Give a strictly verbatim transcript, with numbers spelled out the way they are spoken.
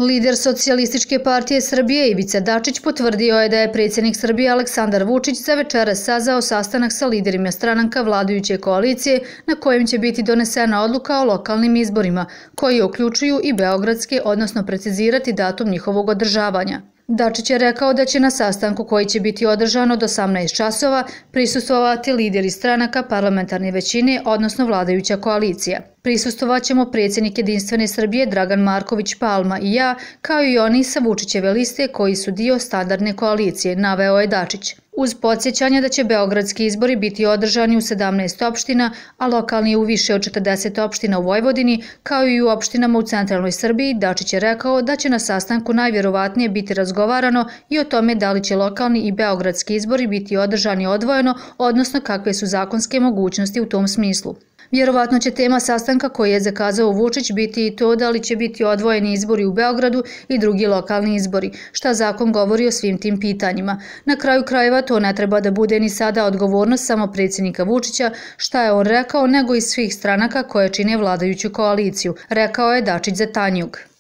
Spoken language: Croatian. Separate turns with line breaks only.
Lider Socijalističke partije Srbije Ivica Dačić potvrdio je da je predsjednik Srbije Aleksandar Vučić za večeras sazvao sastanak sa liderima stranaka vladajuće koalicije na kojem će biti donesena odluka o lokalnim izborima, koji uključuju i beogradske, odnosno precizirati datum njihovog održavanja. Dačić je rekao da će na sastanku koji će biti održan od osamnaest časova prisustvovati lideri stranaka parlamentarne većine, odnosno vladajuća koalicija. Prisustvovaćemo predsjednik Jedinstvene Srbije Dragan Marković Palma i ja, kao i oni sa Vučićeve liste koji su dio standardne koalicije, naveo je Dačić. Uz podsjećanje da će beogradski izbori biti održani u sedamnaest opština, a lokalni u više od četrdeset opština u Vojvodini, kao i u opštinama u centralnoj Srbiji, Dačić je rekao da će na sastanku najvjerovatnije biti razgovarano i o tome da li će lokalni i beogradski izbori biti održani odvojeno, odnosno kakve su zakonske mogućnosti u tom smislu. Vjerovatno će tema sastanka koji je zakazao Vučić biti i to da li će biti odvojeni izbori u Beogradu i drugi lokalni izbori, šta zakon govori o svim tim pitanjima. Na kraju krajeva to ne treba da bude ni sada odgovornost samo predsjednika Vučića, šta je on rekao, nego i svih stranaka koje čine vladajuću koaliciju, rekao je Dačić za Tanjug.